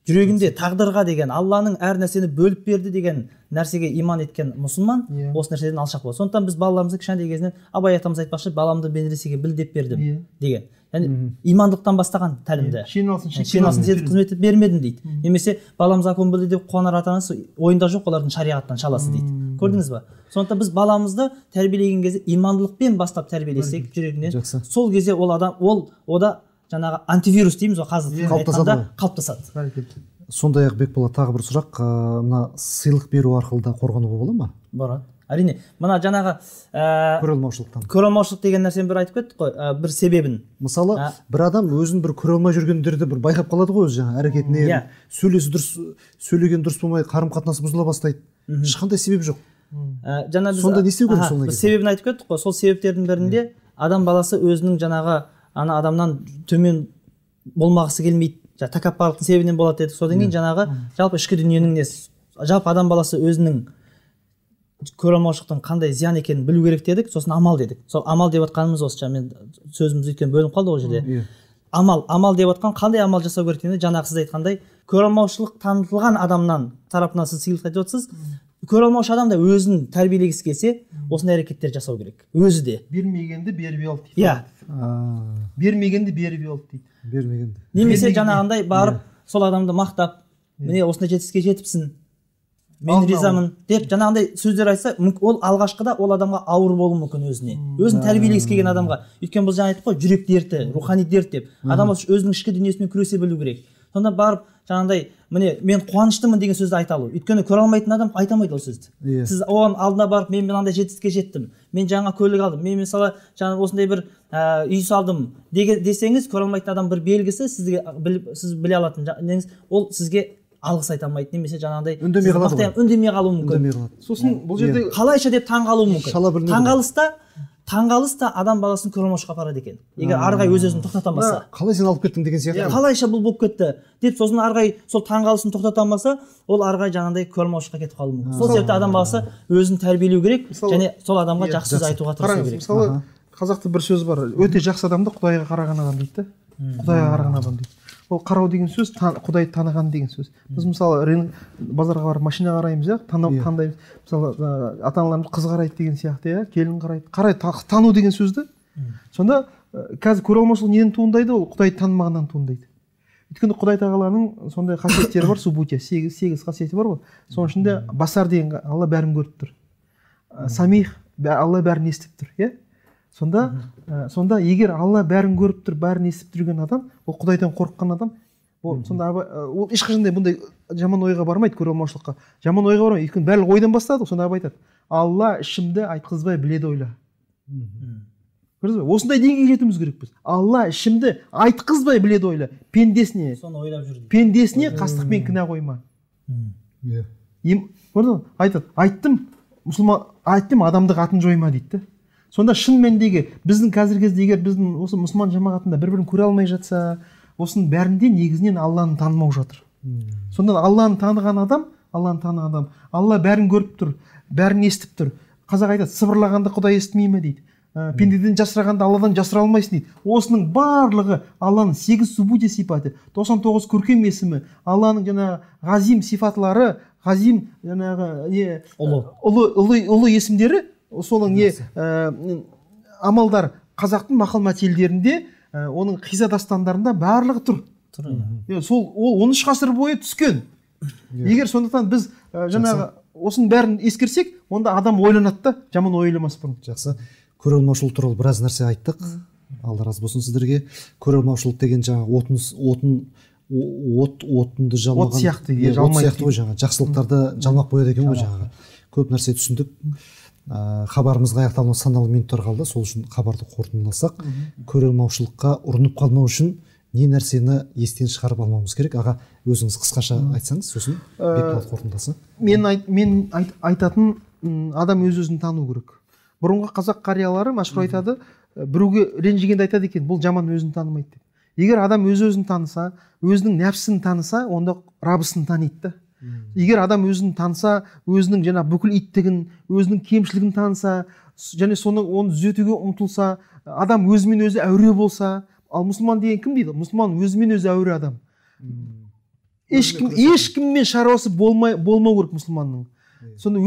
Жүрегінде тағдырға деген, Алланың әр нәрсені бөліп берді деген нәрсеге иман еткен мұсылман осы нәрседен алшақ болады. Сондықтан біз балаларымызды кішкентай кезінен Абай атамыз айтпақшы, баламды медресеге біл деп бердім деген. Яғни имандылықтан бастаған тәлімді. Шен алсын сен қызмет бермедім дейді. Немесе балам закон білді деп қуанар ата-анасы ойында жоқ, олардың шариғаттан шаласы дейді. Көрдіңіз ба? Сондықтан біз баламызды тәрбиелеген кезде имандылықпен бастап тәрбиелесек жүрегінен, сол кезде ол адам ода жаңағы антивирус дейміз ғой, қазір айтқанда қалыптасады. Сондай-ақ Бекболат, тағы бір сұрақ, мына сыйлық беру арқылы да қорғануға бола ма? Болады. Әрине, мына жаңағы көре алмаушылықтан. Көре алмаушылық деген нәрсені бір айтып кеттік қой, бір себебін. Мысалы, бір адам өзін бір көре алмай жүргендерді бір байқап қалады ғой, өзі жаңа әрекетіне, сөйлеген дұрыс болмай, қарым-қатынасы бұзыла бастайды. Ешқандай себеп жоқ. Сонда не істеу керек сондай кезде? Себебін айтып кеттік қой, сол себептердің бірінде адам баласы өзінің жаңағы ана адамнан төмен болмағысы келмейді, тәкаппарлықтың себебінен болады дедік. Содан кейін жаңағы жалпы ішкі дүниенің несі, жалпы адам баласы өзінің көре алмаушылықтың қандай зиян екенін білу керек дедік, сосын амал дедік. Сол амал деп жатқанымыз осы, мен сөзіміз өйткені бөлініп қалды ол жерде. Амал деп жатқан қандай амал жасау керек дегенде, жаңағы сіз айтқандай көре алмаушылық танытылған адамнан тарапынан сіз сыйлық айтып отырсыз. Көре алмаушы адам да өзін тәрбиелегісі келсе, осындай әрекеттер жасау керек. Өзі де. Бермегенді беріп ал дейді. Бермегенді беріп ал дейді. Немесе жаңағындай барып сол адамды мақтап, міне осындай жетістікке жетіпсің, мен ризамын деп жаңағындай сөздер айтса, ол алғашқыда ол адамға ауыр болуы мүмкін өзін тәрбиелегісі келген адамға. Өйткені бұл жаңа айттық қой, жүрек дерті, рухани дерт деп. Адам өзінің ішкі дүниесімен күресе білу керек. Сонда барып жаңағындай, міне мен қуаныштымын деген сөзді айта алу. Өйткені көре алмайтын адам айта алмайды ол сөзді. Сіз оған алдына барып, мен мынандай жетістікке жеттім, мен жаңа көлік алдым, мен мысалы жаңа осындай бір үй салдым десеңіз, көре алмайтын адам бір белгісі сіз біле алатын неңіз, ол сізге алғыс айта алмайды, немесе жаңағыдай үндемей қалуы мүмкін. Сосын бұл жерде қалайша деп таңғалуы мүмкін. Таңғалыс та адам баласын көре алмаушылыққа апарады екен. Егер арғай өз-өзін тоқтата алмаса. Қалай сен алып кеттің деген сияқты. Қалайша бұл болып кетті деп, сосын арғай сол таңғалысын тоқтата алмаса, ол арғай жаңағындай көре алмаушылыққа кетіп қалуы мүмкін. Сол себепті адам баласы өзін тәрбиелеу керек және сол адамға жақсы сөз айтуға тырысу керек. Мысалы, қазақта бір сөз бар, өте жақсы адамды Құдайға қараған адам дейді. Құдайға қараған адам дейді. Ол қарау деген сөз Құдайды таныған деген сөз. Біз мысалы базарға барып машина қараймыз, таңдаймыз. Мысалы ата-аналарымыз қыз қарайды деген сияқты, келін қарайды, тану деген сөзді. Сонда қазір көре алмаушылық неден туындайды? Ол Құдайды танымағаннан туындайды. Өйткені Құдай тағаланың сондай қасиеттері бар, субутия, 8 қасиеті бар ғой. Соның ішінде басар деген Алла бәрін көріп тұр. Самих, Алла бәрін естіп тұр, иә? Сонда егер Алла бәрін көріп тұр, бәрін естіп тұрген адам, ол Құдайдан қорыққан адам, сонда ол ешқашандай бұндай жаман ойға бармайды, көре алмаушылыққа. Жаман ойға бармайды, өйткені барлық ойдан бастады, сонда Абай айтады: Алла ішімді айтқызбай біледі ойла. Көрдіңіз бе? Осындай деңгейге жетуіміз керекпіз. Алла ішімді айтқызбай біледі ойла. Пендесіне, соны ойлап жүр. Пендесіне қастықпен кінә қойма. Көрдіңіз? Айтады, айттым, адамдық атын жойма дейді. Сонда шын мәніндегі біздің қазіргі кезде егер біздің осы мұсылман жамағатында бір-бірін көре алмай жатса, осының бәрінде негізінен Алланы танымау жатыр. Сонда Алланы таныған адам, Алла бәрін көріп тұр, бәрін естіп тұр. Қазақ айтады, сыбырлағанды Құдай естімей ме дейді. Пендеден жасырғанды Алладан жасыра алмайсың дейді. Осының барлығы Алланың 8 субутия сипаты, 99 көркем есімі, Алланың жаңағы ғазим сипатлары, ғазим жаңағы ұлы есімдері, соның амалдар қазақтың мақал мәтелдерінде, оның қиза дастандарында барлығы тұр. Ол 13 ғасыр бойы түскен. Егер сондықтан біз жаңағы осының бәрін ескерсек, онда адам ойланады да, жаман ойламас бұрын. Жақсы. Көре алмаушылық туралы біраз нәрсе айттық. Алла разы болсын сіздерге. Көре алмаушылық деген жаңағы отынды жалмаған, от сияқты ғой, жаңағы жақсылықтарды жалмақ қояды екен ғой, жаңағы. Көп нәрсе түсіндік. Хабарымызға аяқталуына санаулы минуттар қалды. Сол үшін хабарды қорытындыласақ, көре алмаушылыққа ұрынып қалмау үшін не нәрсені естен шығарып алмауымыз керек? Аға, өзіңіз қысқаша айтсаңыз, сосын бетбалды қорытындыласа. Мен айтатын, адам өз-өзін тану керек. Бұрынғы қазақ қариялары мәшһүр айтады, біреуге ренжігенде айтады екен, бұл жаман өзін танымайды деп. Егер адам өз-өзін таныса, өзінің нәпсін таныса, онда Раббысын таниды. Егер адам өзін таныса, өзінің жаңа бүкіл иттігін, өзінің кемшілігін таныса, және оны түзетуге ұмтылса, адам өзімен өзі әуре болса, ал мұсылман деген кім дейді? Мұсылман өзімен өзі әуре адам. Ешкіммен шаруасы болмау керек мұсылманның. Соны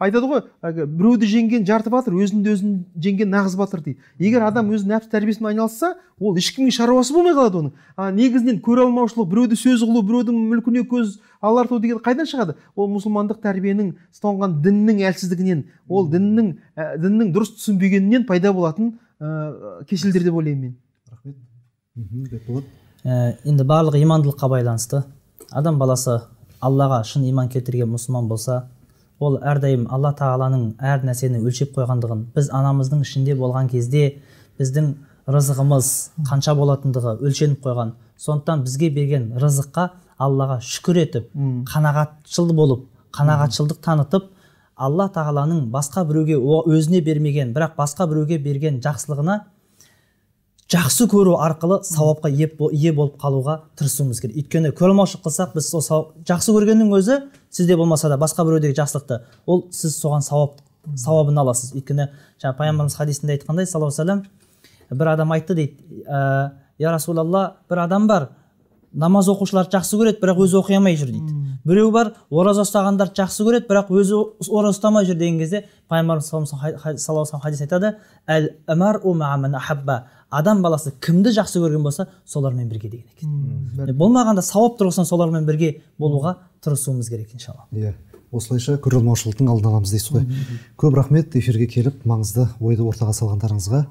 айтады ғой, біреуді жеңген жарты батыр, өзін жеңген нағыз батыр дейді. Егер адам өз нәпс тәрбиесімен айналысса, ол ешкімнің шаруасы болмай қалады оның. Негізінен көре алмаушылық, біреуді сөз қылу, біреудің мүлкіне көз аларту деген қайдан шығады? Ол мұсылмандық тәрбиенің, ұстанған діннің әлсіздігінен, ол діннің дұрыс түсінбегенінен пайда болатын кеселдер деп ойлаймын мен. Енді барлығы имандылыққа байланысты. Адам баласы Аллаға шын иман келтірген мұсылман болса, ол әрдайым Алла тағаланың әр нәрсені өлшеп қойғандығын, біз анамыздың ішінде болған кезде біздің рызығымыз қанша болатындығы өлшеніп қойған. Сондықтан бізге берген рызыққа Аллаға шүкір етіп, қанағатшыл болып, қанағатшылдық танытып, Алла тағаланың басқа біреуге өзіне бермеген, бірақ басқа біреуге берген жақсылығына жақсы көру арқылы сауапқа ие болып қалуға тырысуымыз керек. Өйткені көре алмаушылық қылсақ, біз жақсы көргеннің өзі сізде болмаса да басқа біреудегі жақсылықты, ол сіз соған сауабын аласыз. Өйткені жаңа пайғамбарымыз хадисінде айтқандай, саллаллаху алейхи ва саллям, бір адам айтты дейді, я Расулалла, бір адам бар, намаз оқушыларды жақсы көреді, бірақ өзі оқи алмай жүр дейді. Біреу бар, ораза ұстағандарды жақсы көреді, бірақ өзі ораза ұстамай жүр деген кезде пайғамбарымыз саллаллаху алейхи ва саллям хадис айтады, адам баласы кімді жақсы көрген болса солармен бірге деген екен. Болмағанда сауап тұрғысынан солармен бірге болуға тырысуымыз керек иншалла. Иә, осылайша көре алмаушылықтың алдын аламыз дейсіз ғой. Көп рахмет эфирге келіп маңызды ойды ортаға салғандарыңызға.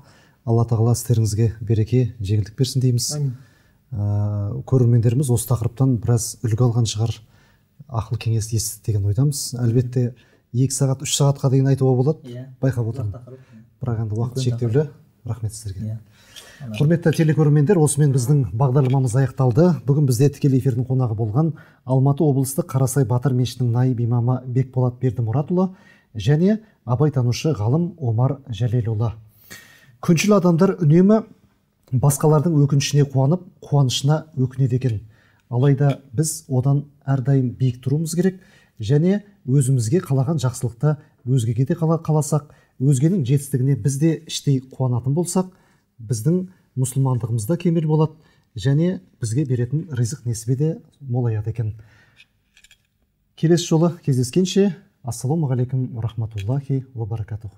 Алла тағала істеріңізге береке, жеңілдік берсін дейміз. Көрермендеріміз осы тақырыптан біраз үлгі алған шығар, ақыл кеңес естіді деген ойдамыз. Әлбетте 2 сағат, 3 сағатқа дейін айтуға болады, байқап отырмын. Бірақ енді уақыт шектеулі. Рахмет сіздерге. Құрметті телекөрермендер, осымен біздің бағдарламамыз аяқталды. Бүгін бізде тікелей эфирдің қонағы болған Алматы облыстық Қарасай Батыр мешітінің наиб имамы Бекболат Бердімұратұлы және абайтанушы ғалым Омар Жәлелұлы. Күншіл адамдар үнемі басқалардың өкінішіне қуанып, қуанышына өкінеді екен. Алайда біз одан әрдайым биік тұруымыз керек және өзімізге қалаған жақсылықты өзгеге де қаласақ, өзгенің жетістігіне біз де іштей қуанатын болсақ, біздің мұсылмандығымызда кемел болады және бізге беретін ризық несібе де молаяды екен. Келесі жолы кездескенше, ассаламу алейкум ва рахматуллахи ва баракатух.